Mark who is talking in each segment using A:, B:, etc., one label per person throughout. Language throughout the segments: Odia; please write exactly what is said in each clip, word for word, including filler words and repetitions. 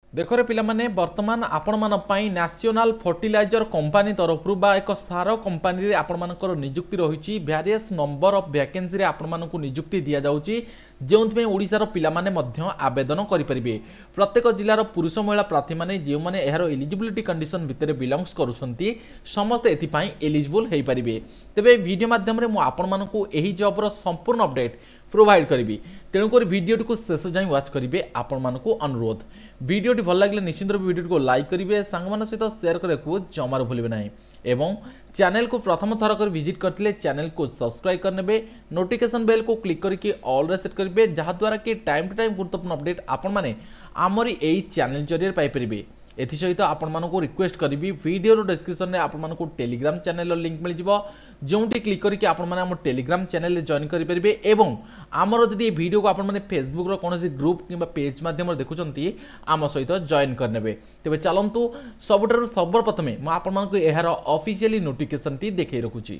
A: ଦେଖରେ ପିଲାମାନେ, ବର୍ତ୍ତମାନ ଆପଣମାନଙ୍କ ପାଇଁ ନ୍ୟାସନାଲ ଫର୍ଟିଲାଇଜର କମ୍ପାନୀ ତରଫରୁ ବା ଏକ ସାର କମ୍ପାନୀରେ ଆପଣମାନଙ୍କର ନିଯୁକ୍ତି ରହିଛି। ଭ୍ୟାରିୟସ୍ ନମ୍ବର ଅଫ୍ ଭ୍ୟାକେନ୍ସିରେ ଆପଣମାନଙ୍କୁ ନିଯୁକ୍ତି ଦିଆଯାଉଛି, ଯେଉଁଥିପାଇଁ ଓଡ଼ିଶାର ପିଲାମାନେ ମଧ୍ୟ ଆବେଦନ କରିପାରିବେ। ପ୍ରତ୍ୟେକ ଜିଲ୍ଲାର ପୁରୁଷ ମହିଳା ପ୍ରାର୍ଥୀମାନେ, ଯେଉଁମାନେ ଏହାର ଏଲିଜିବିଲିଟି କଣ୍ଡିସନ ଭିତରେ ବିଲଙ୍ଗସ୍ କରୁଛନ୍ତି, ସମସ୍ତେ ଏଥିପାଇଁ ଏଲିଜିବୁଲ୍ ହୋଇପାରିବେ। ତେବେ ଭିଡ଼ିଓ ମାଧ୍ୟମରେ ମୁଁ ଆପଣମାନଙ୍କୁ ଏହି ଜବ୍ର ସମ୍ପୂର୍ଣ୍ଣ ଅପଡେଟ୍ ପ୍ରୋଭାଇଡ଼ କରିବି, ତେଣୁକରି ଭିଡ଼ିଓଟିକୁ ଶେଷ ଯାଏଁ ୱାଚ୍ କରିବେ ଆପଣମାନଙ୍କୁ ଅନୁରୋଧ। ଭିଡ଼ିଓଟି ଭଲ ଲାଗିଲେ ନିଶ୍ଚିତ ରୂପେ ଭିଡ଼ିଓଟିକୁ ଲାଇକ୍ କରିବେ, ସାଙ୍ଗମାନଙ୍କ ସହିତ ସେୟାର କରିବାକୁ ଜମାରୁ ଭୁଲିବେ ନାହିଁ ଏବଂ ଚ୍ୟାନେଲକୁ ପ୍ରଥମ ଥର କରି ଭିଜିଟ୍ କରିଥିଲେ ଚ୍ୟାନେଲକୁ ସବସ୍କ୍ରାଇବ୍ କରିନେବେ, ନୋଟିଫିକେସନ୍ ବେଲ୍କୁ କ୍ଲିକ୍ କରିକି ଅଲ୍ରେ ସେଟ୍ କରିବେ, ଯାହାଦ୍ୱାରା କି ଟାଇମ୍ ଟୁ ଟାଇମ୍ ଗୁରୁତ୍ୱପୂର୍ଣ୍ଣ ଅପଡେଟ୍ ଆପଣମାନେ ଆମରି ଏଇ ଚ୍ୟାନେଲ ଜରିଆରେ ପାଇପାରିବେ। ଏଥିସହିତ ଆପଣମାନଙ୍କୁ ରିକ୍ୱେଷ୍ଟ କରିବି, ଭିଡ଼ିଓର ଡେସ୍କ୍ରିପସନରେ ଆପଣମାନଙ୍କୁ ଟେଲିଗ୍ରାମ ଚ୍ୟାନେଲର ଲିଙ୍କ୍ ମିଳିଯିବ, ଯେଉଁଠି କ୍ଲିକ୍ କରିକି ଆପଣମାନେ ଆମ ଟେଲିଗ୍ରାମ ଚ୍ୟାନେଲରେ ଜଏନ୍ କରିପାରିବେ ଏବଂ ଆମର ଯଦି ଏ ଭିଡ଼ିଓକୁ ଆପଣମାନେ ଫେସବୁକ୍ର କୌଣସି ଗ୍ରୁପ୍ କିମ୍ବା ପେଜ୍ ମାଧ୍ୟମରେ ଦେଖୁଛନ୍ତି, ଆମ ସହିତ ଜଏନ୍ କରିନେବେ। ତେବେ ଚାଲନ୍ତୁ, ସବୁଠାରୁ ସର୍ବପ୍ରଥମେ ମୁଁ ଆପଣମାନଙ୍କୁ ଏହାର ଅଫିସିଆଲି ନୋଟିଫିକେସନଟି ଦେଖାଇ ରଖୁଛି।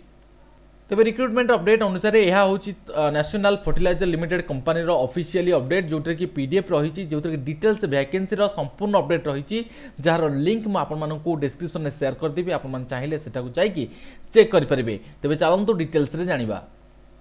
A: ତେବେ ରିକ୍ରୁଟମେଣ୍ଟ ଅପଡେଟ୍ ଅନୁସାରେ ଏହା ହେଉଛି ନ୍ୟାସନାଲ ଫର୍ଟିଲାଇଜର ଲିମିଟେଡ୍ କମ୍ପାନୀର ଅଫିସିଆଲି ଅପଡେଟ୍, ଯେଉଁଥିରେ କି ପିଡିଏଫ୍ ରହିଛି, ଯେଉଁଥିରେ କି ଡିଟେଲ୍ସ ଭ୍ୟାକେନ୍ସିର ସମ୍ପୂର୍ଣ୍ଣ ଅପଡେଟ୍ ରହିଛି, ଯାହାର ଲିଙ୍କ୍ ମୁଁ ଆପଣମାନଙ୍କୁ ଡିସ୍କ୍ରିପସନରେ ସେୟାର କରିଦେବି। ଆପଣମାନେ ଚାହିଁଲେ ସେଠାକୁ ଯାଇକି ଚେକ୍ କରିପାରିବେ। ତେବେ ଚାଲନ୍ତୁ ଡିଟେଲ୍ସରେ ଜାଣିବା।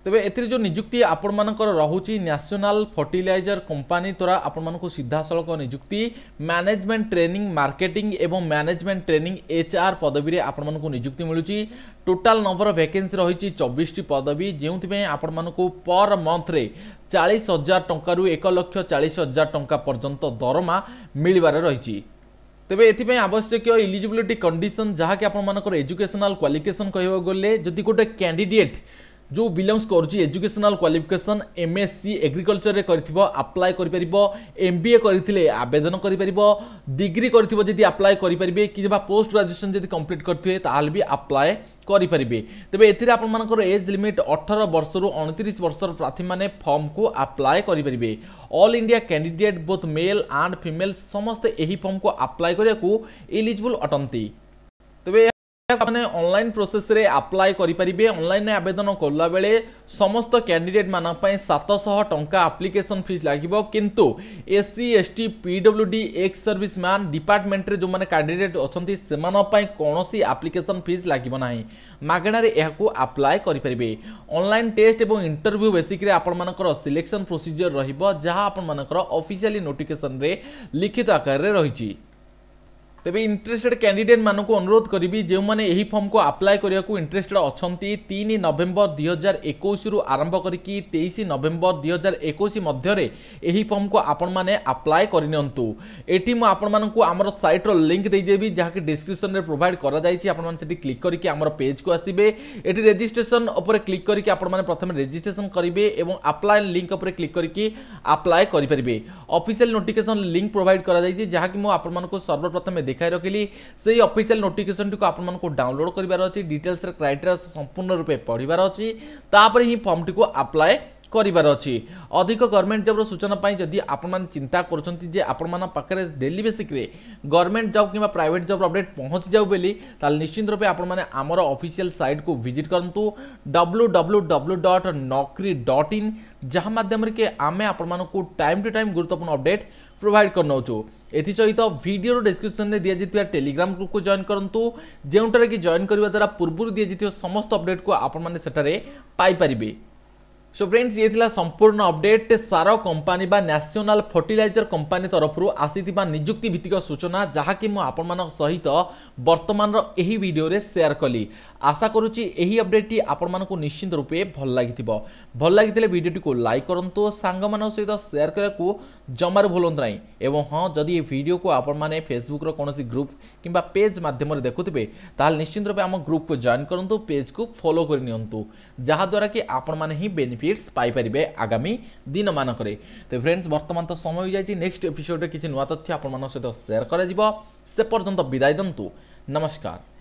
A: ତେବେ ଏଥିରେ ଯେଉଁ ନିଯୁକ୍ତି ଆପଣମାନଙ୍କର ରହୁଛି, ନ୍ୟାସନାଲ ଫର୍ଟିଲାଇଜର କମ୍ପାନୀ ଦ୍ୱାରା ଆପଣମାନଙ୍କୁ ସିଧାସଳଖ ନିଯୁକ୍ତି, ମ୍ୟାନେଜମେଣ୍ଟ ଟ୍ରେନିଂ ମାର୍କେଟିଂ ଏବଂ ମ୍ୟାନେଜମେଣ୍ଟ ଟ୍ରେନିଂ ଏଚ୍ ଆର୍ ପଦବୀରେ ଆପଣମାନଙ୍କୁ ନିଯୁକ୍ତି ମିଳୁଛି। ଟୋଟାଲ ନମ୍ବର ଭ୍ୟାକେନ୍ସି ରହିଛି ଚବିଶଟି ପଦବୀ, ଯେଉଁଥିପାଇଁ ଆପଣମାନଙ୍କୁ ପର ମନ୍ଥରେ ଚାଳିଶ ହଜାର ଟଙ୍କାରୁ ଏକ ଲକ୍ଷ ଚାଳିଶ ହଜାର ଟଙ୍କା ପର୍ଯ୍ୟନ୍ତ ଦରମା ମିଳିବାର ରହିଛି। ତେବେ ଏଥିପାଇଁ ଆବଶ୍ୟକୀୟ ଇଲିଜିବିଲିଟି କଣ୍ଡିସନ, ଯାହାକି ଆପଣମାନଙ୍କର ଏଜୁକେସନାଲ କ୍ୱାଲିଫିକେସନ କହିବାକୁ ଗଲେ, ଯଦି ଗୋଟେ କ୍ୟାଣ୍ଡିଡେଟ୍ ଯେଉଁ ବିଲଙ୍ଗସ୍ କରୁଛି ଏଜୁକେସନାଲ କ୍ୱାଲିଫିକେସନ ଏମ୍ଏସ୍ସି ଏଗ୍ରିକଲଚରରେ କରିଥିବ, ଆପ୍ଲାଏ କରିପାରିବ। ଏମ୍ ବି ଏ କରିଥିଲେ ଆବେଦନ କରିପାରିବ। ଡିଗ୍ରୀ କରିଥିବ ଯଦି ଆପ୍ଲାଏ କରିପାରିବେ, କିମ୍ବା ପୋଷ୍ଟ ଗ୍ରାଜୁଏସନ୍ ଯଦି କମ୍ପ୍ଲିଟ୍ କରିଥିବେ ତାହେଲେ ବି ଆପ୍ଲାଏ କରିପାରିବେ। ତେବେ ଏଥିରେ ଆପଣମାନଙ୍କର ଏଜ୍ ଲିମିଟ୍ ଅଠର ବର୍ଷରୁ ଅଣତିରିଶ ବର୍ଷର ପ୍ରାର୍ଥୀମାନେ ଫର୍ମକୁ ଆପ୍ଲାଏ କରିପାରିବେ। All India candidate, both male and female, ସମସ୍ତେ ଏହି ଫର୍ମକୁ ଆପ୍ଲାଏ କରିବାକୁ ଏଲିଜିବୁଲ୍ ଅଟନ୍ତି। ତେବେ ମାନେ ଅନଲାଇନ୍ ପ୍ରୋସେସରେ ଆପ୍ଲାଏ କରିପାରିବେ। ଅନଲାଇନରେ ଆବେଦନ କଲାବେଳେ ସମସ୍ତ କ୍ୟାଣ୍ଡିଡେଟ୍ ମାନଙ୍କ ପାଇଁ ସାତଶହ ଟଙ୍କା ଆପ୍ଲିକେସନ୍ ଫିସ୍ ଲାଗିବ, କିନ୍ତୁ S C, S T, P W D, X service man ଡିପାର୍ଟମେଣ୍ଟରେ ଯେଉଁମାନେ କ୍ୟାଣ୍ଡିଡେଟ୍ ଅଛନ୍ତି, ସେମାନଙ୍କ ପାଇଁ କୌଣସି ଆପ୍ଲିକେସନ୍ ଫିସ୍ ଲାଗିବ ନାହିଁ। ମାଗଣାରେ ଏହାକୁ ଆପ୍ଲାଏ କରିପାରିବେ। ଅନଲାଇନ୍ ଟେଷ୍ଟ ଏବଂ ଇଣ୍ଟରଭ୍ୟୁ ବେସିକ୍ରେ ଆପଣମାନଙ୍କର ସିଲେକ୍ସନ୍ ପ୍ରୋସିଜିଅର ରହିବ, ଯାହା ଆପଣମାନଙ୍କର ଅଫିସିଆଲି ନୋଟିଫିକେସନରେ ଲିଖିତ ଆକାରରେ ରହିଛି। ତେବେ ଇଣ୍ଟରେଷ୍ଟେଡ୍ କ୍ୟାଣ୍ଡିଡେଟ୍ ମାନଙ୍କୁ ଅନୁରୋଧ କରିବି, ଯେଉଁମାନେ ଏହି ଫର୍ମକୁ ଆପ୍ଲାଏ କରିବାକୁ ଇଣ୍ଟରେଷ୍ଟେଡ୍ ଅଛନ୍ତି, ତିନି ନଭେମ୍ବର ଦୁଇ ହଜାର ଏକୋଇଶରୁ ଆରମ୍ଭ କରିକି ତେଇଶ ନଭେମ୍ବର ଦୁଇ ହଜାର ଏକୋଇଶ ମଧ୍ୟରେ ଏହି ଫର୍ମକୁ ଆପଣମାନେ ଆପ୍ଲାଏ କରିନିଅନ୍ତୁ। ଏଠି ମୁଁ ଆପଣମାନଙ୍କୁ ଆମର ସାଇଟ୍ର ଲିଙ୍କ୍ ଦେଇଦେବି, ଯାହାକି ଡିସ୍କ୍ରିପସନରେ ପ୍ରୋଭାଇଡ଼ କରାଯାଇଛି। ଆପଣମାନେ ସେଠି କ୍ଲିକ୍ କରିକି ଆମର ପେଜ୍କୁ ଆସିବେ। ଏଠି ରେଜିଷ୍ଟ୍ରେସନ ଉପରେ କ୍ଲିକ୍ କରିକି ଆପଣମାନେ ପ୍ରଥମେ ରେଜିଷ୍ଟ୍ରେସନ କରିବେ ଏବଂ ଆପ୍ଲାଏ ଲିଙ୍କ୍ ଉପରେ କ୍ଲିକ୍ କରିକି ଆପ୍ଲାଏ କରିପାରିବେ। ଅଫିସିଆଲ ନୋଟିଫିକେସନ ଲିଙ୍କ୍ ପ୍ରୋଭାଇଡ଼ କରାଯାଇଛି, ଯାହାକି ମୁଁ ଆପଣମାନଙ୍କୁ ସର୍ବପ୍ରଥମେ ଦେଖାଇ ରଖିଲି। ସେଇ ଅଫିସିଆଲ ନୋଟିଫିକେସନଟିକୁ ଆପଣମାନଙ୍କୁ ଡାଉନଲୋଡ୍ କରିବାର ଅଛି, ଡିଟେଲ୍ସର କ୍ରାଇଟେରିଆ ସମ୍ପୂର୍ଣ୍ଣ ରୂପେ ପଢ଼ିବାର ଅଛି, ତାପରେ ହିଁ ଫର୍ମଟିକୁ ଆପ୍ଲାଏ କରିବାର ଅଛି। ଅଧିକ ଗଭର୍ଣ୍ଣମେଣ୍ଟ ଜବ୍ର ସୂଚନା ପାଇଁ ଯଦି ଆପଣମାନେ ଚିନ୍ତା କରୁଛନ୍ତି ଯେ ଆପଣମାନଙ୍କ ପାଖରେ ଡେଲି ବେସିକ୍ରେ ଗଭର୍ଣ୍ଣମେଣ୍ଟ ଜବ୍ କିମ୍ବା ପ୍ରାଇଭେଟ୍ ଜବ୍ର ଅପଡେଟ୍ ପହଞ୍ଚି ଯାଉ ବୋଲି, ତାହେଲେ ନିଶ୍ଚିତ ରୂପେ ଆପଣମାନେ ଆମର ଅଫିସିଆଲ ସାଇଟ୍କୁ ଭିଜିଟ୍ କରନ୍ତୁ, W W W dot Naukri dot in, ଯାହା ମାଧ୍ୟମରେ କି ଆମେ ଆପଣମାନଙ୍କୁ ଟାଇମ୍ ଟୁ ଟାଇମ୍ ଗୁରୁତ୍ୱପୂର୍ଣ୍ଣ ଅପଡେଟ୍ ପ୍ରୋଭାଇଡ଼ କରିନେଉଛୁ। ଏଥିସହିତ ଭିଡ଼ିଓର ଡେସ୍କ୍ରିପସନରେ ଦିଆଯାଇଥିବା ଟେଲିଗ୍ରାମ ଗ୍ରୁପକୁ ଜଏନ୍ କରନ୍ତୁ, ଯେଉଁଠାରେ କି ଜଏନ୍ କରିବା ଦ୍ୱାରା ପୂର୍ବରୁ ଦିଆଯାଇଥିବା ସମସ୍ତ ଅପଡେଟ୍କୁ ଆପଣମାନେ ସେଠାରେ ପାଇପାରିବେ। ସୋ ଫ୍ରେଣ୍ଡସ୍, ଇଏ ଥିଲା ସମ୍ପୂର୍ଣ୍ଣ ଅପଡେଟ୍ ସାର କମ୍ପାନୀ ବା ନ୍ୟାସନାଲ ଫର୍ଟିଲାଇଜର କମ୍ପାନୀ ତରଫରୁ ଆସିଥିବା ନିଯୁକ୍ତି ଭିତ୍ତିକ ସୂଚନା, ଯାହାକି ମୁଁ ଆପଣମାନଙ୍କ ସହିତ ବର୍ତ୍ତମାନର ଏହି ଭିଡ଼ିଓରେ ସେୟାର କଲି। ଆଶା କରୁଛି ଏହି ଅପଡେଟ୍ଟି ଆପଣମାନଙ୍କୁ ନିଶ୍ଚିତ ରୂପେ ଭଲ ଲାଗିଥିବ। ଭଲ ଲାଗିଥିଲେ ଭିଡ଼ିଓଟିକୁ ଲାଇକ୍ କରନ୍ତୁ, ସାଙ୍ଗମାନଙ୍କ ସହିତ ସେୟାର କରିବାକୁ ଜମାରୁ ଭୁଲନ୍ତୁ ନାହିଁ ଏବଂ ହଁ, ଯଦି ଏ ଭିଡ଼ିଓକୁ ଆପଣମାନେ ଫେସବୁକ୍ର କୌଣସି ଗ୍ରୁପ୍ କିମ୍ବା ପେଜ୍ ମାଧ୍ୟମରେ ଦେଖୁଥିବେ, ତାହେଲେ ନିଶ୍ଚିତ ରୂପେ ଆମ ଗ୍ରୁପକୁ ଜଏନ୍ କରନ୍ତୁ, ପେଜ୍କୁ ଫଲୋ କରିନିଅନ୍ତୁ, ଯାହାଦ୍ୱାରା କି ଆପଣମାନେ ହିଁ ବେନିଫିଟ୍ସ ପାଇପାରିବେ ଆଗାମୀ ଦିନମାନଙ୍କରେ। ତ ଫ୍ରେଣ୍ଡସ୍, ବର୍ତ୍ତମାନ ତ ସମୟ ହୋଇଯାଇଛି। ନେକ୍ସଟ ଏପିସୋଡ଼ରେ କିଛି ନୂଆ ତଥ୍ୟ ଆପଣମାନଙ୍କ ସହିତ ସେୟାର କରାଯିବ। ସେ ପର୍ଯ୍ୟନ୍ତ ବିଦାୟ ଦିଅନ୍ତୁ। ନମସ୍କାର।